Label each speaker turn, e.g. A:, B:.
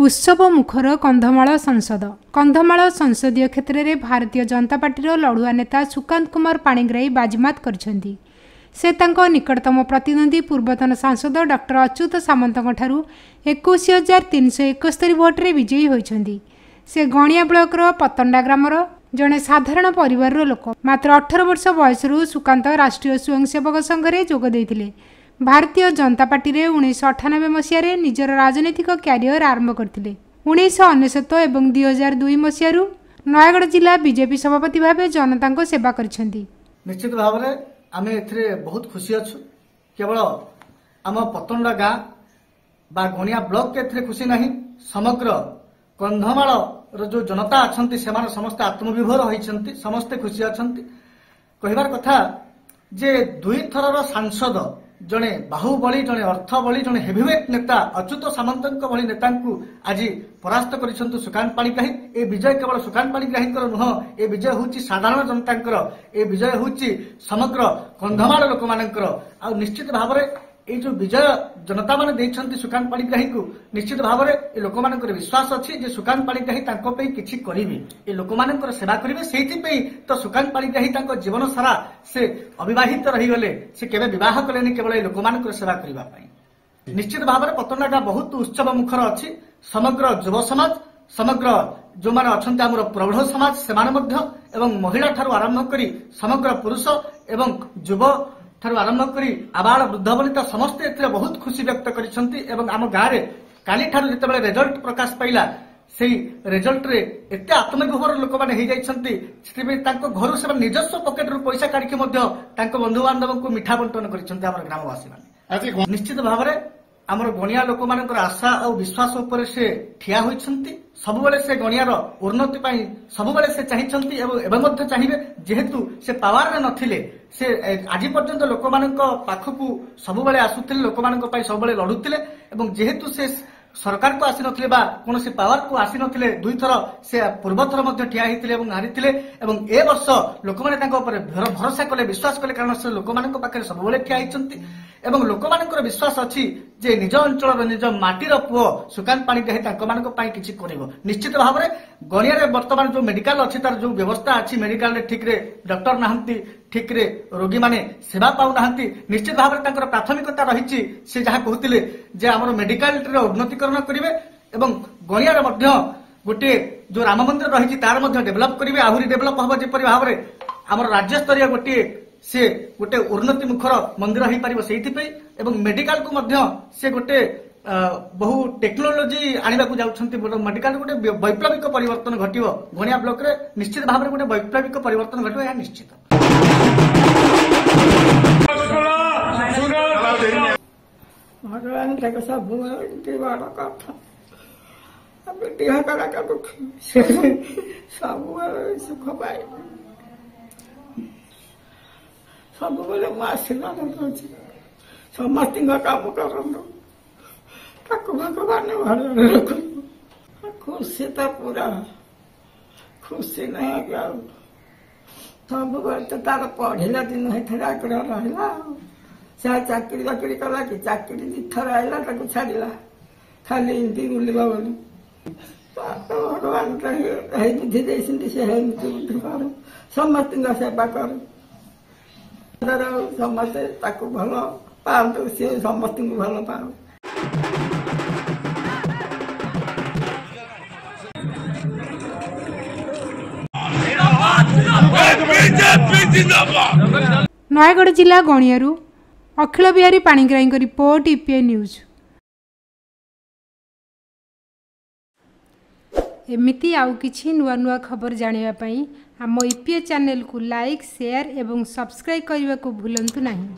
A: ଉତ୍ସବ ମୁଖର କନ୍ଧମାଳ ସଂସଦ। କନ୍ଧମାଳ ସଂସଦୀୟ କ୍ଷେତ୍ରରେ ଭାରତୀୟ ଜନତା ପାର୍ଟିର ଲଢୁଆ ନେତା ସୁକାନ୍ତ କୁମାର ପାଣିଗ୍ରାହୀ ବାଜିମାତ କରିଛନ୍ତି। ସେ ତାଙ୍କ ନିକଟତମ ପ୍ରତିଦ୍ୱନ୍ଦ୍ୱୀ ପୂର୍ବତନ ସାଂସଦ ଡକ୍ଟର ଅଚ୍ୟୁତ ସାମନ୍ତଙ୍କଠାରୁ 21,371 ଭୋଟରେ ବିଜୟୀ ହୋଇଛନ୍ତି। ସେ ଗଣିଆ ବ୍ଲକର ପତଣ୍ଡା ଗ୍ରାମର ଜଣେ ସାଧାରଣ ପରିବାରର ଲୋକ। ମାତ୍ର 18 ବର୍ଷ ବୟସରୁ ସୁକାନ୍ତ ରାଷ୍ଟ୍ରୀୟ ସ୍ୱୟଂସେବକ ସଂଘରେ ଯୋଗ ଦେଇଥିଲେ। ଭାରତୀୟ ଜନତା ପାର୍ଟିରେ 1998 ମସିହାରେ ନିଜର ରାଜନୈତିକ କ୍ୟାରିୟର ଆରମ୍ଭ କରିଥିଲେ। 1999 ଏବଂ 2002 ମସିହାରୁ ନୟାଗଡ଼ ଜିଲ୍ଲା ବିଜେପି ସଭାପତି ଭାବେ ଜନତାଙ୍କ ସେବା କରିଛନ୍ତି।
B: ନିଶ୍ଚିତ ଭାବରେ ଆମେ ଏଥିରେ ବହୁତ ଖୁସି ଅଛୁ। କେବଳ ଆମ ପତଣ୍ଡା ଗାଁ ବା ଗଣିଆ ବ୍ଲକ ଏଥିରେ ଖୁସି ନାହିଁ, ସମଗ୍ର କନ୍ଧମାଳର ଯୋଉ ଜନତା ଅଛନ୍ତି ସେମାନେ ସମସ୍ତେ ଆତ୍ମବିଭୋର ହୋଇଛନ୍ତି, ସମସ୍ତେ ଖୁସି ଅଛନ୍ତି। କହିବାର କଥା ଯେ ଦୁଇଥରର ସାଂସଦ, ଜଣେ ବାହୁବଳୀ, ଜଣେ ଅର୍ଥବଳୀ, ଜଣେ ହେଭିୱେଟ୍ ନେତା ଅଚ୍ୟୁତ ସାମନ୍ତଙ୍କ ଭଳି ନେତାଙ୍କୁ ଆଜି ପରାସ୍ତ କରିଛନ୍ତି ସୁକାନ୍ତ ପାଣିଗ୍ରାହୀ। ଏ ବିଜୟ କେବଳ ସୁକାନ୍ତ ପାଣିଗ୍ରାହୀଙ୍କର ନୁହଁ, ଏ ବିଜୟ ହେଉଛି ସାଧାରଣ ଜନତାଙ୍କର, ଏ ବିଜୟ ହେଉଛି ସମଗ୍ର କନ୍ଧମାଳ ଲୋକମାନଙ୍କର। ଆଉ ନିଶ୍ଚିତ ଭାବରେ ଏଇ ଯୋଉ ବିଜୟ ଜନତାମାନେ ଦେଇଛନ୍ତି ସୁକାନ୍ତ ପାଣିଗ୍ରାହୀଙ୍କୁ, ନିଶ୍ଚିତ ଭାବରେ ଏ ଲୋକମାନଙ୍କର ବିଶ୍ୱାସ ଅଛି ଯେ ସୁକାନ୍ତ ପାଣିଗ୍ରାହୀ ତାଙ୍କ ପାଇଁ କିଛି କରିବେ, ଏ ଲୋକମାନଙ୍କର ସେବା କରିବେ। ସେଇଥିପାଇଁ ତ ସୁକାନ୍ତ ପାଣିଗ୍ରାହୀ ତାଙ୍କ ଜୀବନ ସାରା ସେ ଅବିବାହିତ ରହିଗଲେ, ସେ କେବେ ବିବାହ କଲେନି, କେବଳ ଏ ଲୋକମାନଙ୍କର ସେବା କରିବା ପାଇଁ। ନିଶ୍ଚିତ ଭାବରେ ପତଣ୍ଡାଟା ବହୁତ ଉତ୍ସବ ମୁଖର ଅଛି। ସମଗ୍ର ଯୁବ ସମାଜ, ସମଗ୍ର ଯୋଉମାନେ ଅଛନ୍ତି ଆମର ପ୍ରୌଢ଼ ସମାଜ ସେମାନେ ମଧ୍ୟ, ଏବଂ ମହିଳା ଠାରୁ ଆରମ୍ଭ କରି ସମଗ୍ର ପୁରୁଷ ଏବଂ ଯୁବ ଠାରୁ ଆରମ୍ଭ କରି ଆବାଳ ବୃଦ୍ଧ ବନିତା ସମସ୍ତେ ଏଥିରେ ବହୁତ ଖୁସି ବ୍ୟକ୍ତ କରିଛନ୍ତି। ଏବଂ ଆମ ଗାଁରେ କାଲିଠାରୁ ଯେତେବେଳେ ରେଜଲ୍ଟ ପ୍ରକାଶ ପାଇଲା, ସେଇ ରେଜଲ୍ଟରେ ଏତେ ଆତ୍ମବିଭୋର ଲୋକମାନେ ହେଇଯାଇଛନ୍ତି, ସେଥିପାଇଁ ତାଙ୍କ ଘରୁ ସେମାନେ ନିଜସ୍ୱ ପକେଟରୁ ପଇସା କାଢିକି ମଧ୍ୟ ତାଙ୍କ ବନ୍ଧୁବାନ୍ଧବଙ୍କୁ ମିଠା ବଣ୍ଟନ କରିଛନ୍ତି ଆମର ଗ୍ରାମବାସୀମାନେ। ନିଶ୍ଚିତ ଭାବରେ ଆମର ଗଣିଆ ଲୋକମାନଙ୍କର ଆଶା ଆଉ ବିଶ୍ୱାସ ଉପରେ ସେ ଠିଆ ହୋଇଛନ୍ତି। ସବୁବେଳେ ସେ ଗଣିଆର ଉନ୍ନତି ପାଇଁ ସବୁବେଳେ ସେ ଚାହିଁଛନ୍ତି ଏବଂ ଏବେ ମଧ୍ୟ ଚାହିଁବେ। ଯେହେତୁ ସେ ପାୱାରରେ ନଥିଲେ, ସେ ଆଜି ପର୍ଯ୍ୟନ୍ତ ଲୋକମାନଙ୍କ ପାଖକୁ ସବୁବେଳେ ଆସୁଥିଲେ, ଲୋକମାନଙ୍କ ପାଇଁ ସବୁବେଳେ ଲଢୁଥିଲେ। ଏବଂ ଯେହେତୁ ସେ ସରକାରକୁ ଆସିନଥିଲେ ବା କୌଣସି ପାୱାରକୁ ଆସିନଥିଲେ, ଦୁଇଥର ସେ ପୂର୍ବଥର ମଧ୍ୟ ଠିଆ ହେଇଥିଲେ ଏବଂ ହାରିଥିଲେ, ଏବଂ ଏ ବର୍ଷ ଲୋକମାନେ ତାଙ୍କ ଉପରେ ଭରସା କଲେ, ବିଶ୍ୱାସ କଲେ, କାରଣ ସେ ଲୋକମାନଙ୍କ ପାଖରେ ସବୁବେଳେ ଠିଆ ହେଇଛନ୍ତି। ଏବଂ ଲୋକମାନଙ୍କର ବିଶ୍ୱାସ ଅଛି ଯେ ନିଜ ଅଞ୍ଚଳର ନିଜ ମାଟିର ପୁଅ ସୁକାନ୍ତ ପାଣିଗ୍ରାହୀ ତାଙ୍କମାନଙ୍କ ପାଇଁ କିଛି କରିବ। ନିଶ୍ଚିତ ଭାବରେ ଗଣିଆରେ ବର୍ତ୍ତମାନ ଯୋଉ ମେଡିକାଲ ଅଛି, ତାର ଯୋଉ ବ୍ୟବସ୍ଥା ଅଛି, ମେଡିକାଲରେ ଠିକରେ ଡକ୍ଟର ନାହାନ୍ତି, ଠିକରେ ରୋଗୀମାନେ ସେବା ପାଉନାହାନ୍ତି। ନିଶ୍ଚିତ ଭାବରେ ତାଙ୍କର ପ୍ରାଥମିକତା ରହିଛି, ସେ ଯାହା କହୁଥିଲେ ଯେ ଆମର ମେଡିକାଲର ଉନ୍ନତିକରଣ କରିବେ ଏବଂ ଗଣିଆର ମଧ୍ୟ ଗୋଟିଏ ଯୋଉ ରାମ ମନ୍ଦିର ରହିଛି ତାର ମଧ୍ୟ ଡେଭଲପ କରିବେ, ଆହୁରି ଡେଭଲପ ହବ ଯେପରି ଭାବରେ ଆମର ରାଜ୍ୟସ୍ତରୀୟ ଗୋଟିଏ ସେ ଗୋଟେ ଉନ୍ନତି ମୁଖର ମନ୍ଦିର ହେଇପାରିବ ସେଇଥିପାଇଁ। ଏବଂ ମେଡିକାଲକୁ ମଧ୍ୟ ସେ ଗୋଟେ ବହୁ ଟେକ୍ନୋଲୋଜି ଆଣିବାକୁ ଯାଉଛନ୍ତି। ମେଡିକାଲ ଗୋଟେ ବୈପ୍ଳବିକ ପରିବର୍ତ୍ତନ ଘଟିବ ଗଣିଆ ବ୍ଲକରେ, ନିଶ୍ଚିତ ଭାବରେ ଗୋଟେ ବୈପ୍ଳବିକ ପରିବର୍ତ୍ତନ ଘଟିବ, ଏହା ନିଶ୍ଚିତ।
C: ଭଗବାନ ତାକୁ ସବୁବେଳେ ବଡ଼ କଥା, ଦେହ ସେ ସବୁବେଳେ ସୁଖ ପାଇବ। ସବୁବେଳେ ମୁଁ ଆଶୀର୍ବାଦ ଦଉଛି, ସମସ୍ତଙ୍କ କାମ କରନ୍ତୁ, ତାକୁ ଭଗବାନ ଭଲରେ ରଖନ୍ତୁ। ଖୁସି ତ ପୁରା ଖୁସି ନାହିଁ ଆଉ ସବୁବେଳେ ତ ତାର ପଢିଲା ଦିନ ହେଇଥିଲେ ଆଗ୍ରହ ରହିଲା। ଆଉ ସେ ଚାକିରି ବାକିରି କଲା କି? ଚାକିରି ଦିଥର ଆଇଲା, ତାକୁ ଛାଡ଼ିଲା ଖାଲି ଏମିତି ବୁଲିବ ବୋଲି। ଭଗବାନ ହେଇ ବୁଦ୍ଧି ଦେଇଛନ୍ତି, ସେ ଏମିତି ବୁଦ୍ଧି କରୁ, ସମସ୍ତଙ୍କ ସେବା କରୁ, ସମସ୍ତେ ତାକୁ ଭଲ ପାଆନ୍ତୁ, ସିଏ ସମସ୍ତଙ୍କୁ ଭଲ ପାଉ।
A: ନୟାଗଡ଼ ଜିଲ୍ଲା ଗଣିଆରୁ ଅଖିଳ ବିହାରୀ ପାଣିଗ୍ରାହୀଙ୍କ ରିପୋର୍ଟ, ଇପିଏ ନ୍ୟୁଜ୍। ଏମିତି ଆଉ କିଛି ନୂଆ ନୂଆ ଖବର ଜାଣିବା ପାଇଁ ଆମ ଇପିଏ ଚ୍ୟାନେଲକୁ ଲାଇକ୍, ସେୟାର ଏବଂ ସବସ୍କ୍ରାଇବ୍ କରିବାକୁ ଭୁଲନ୍ତୁ ନାହିଁ।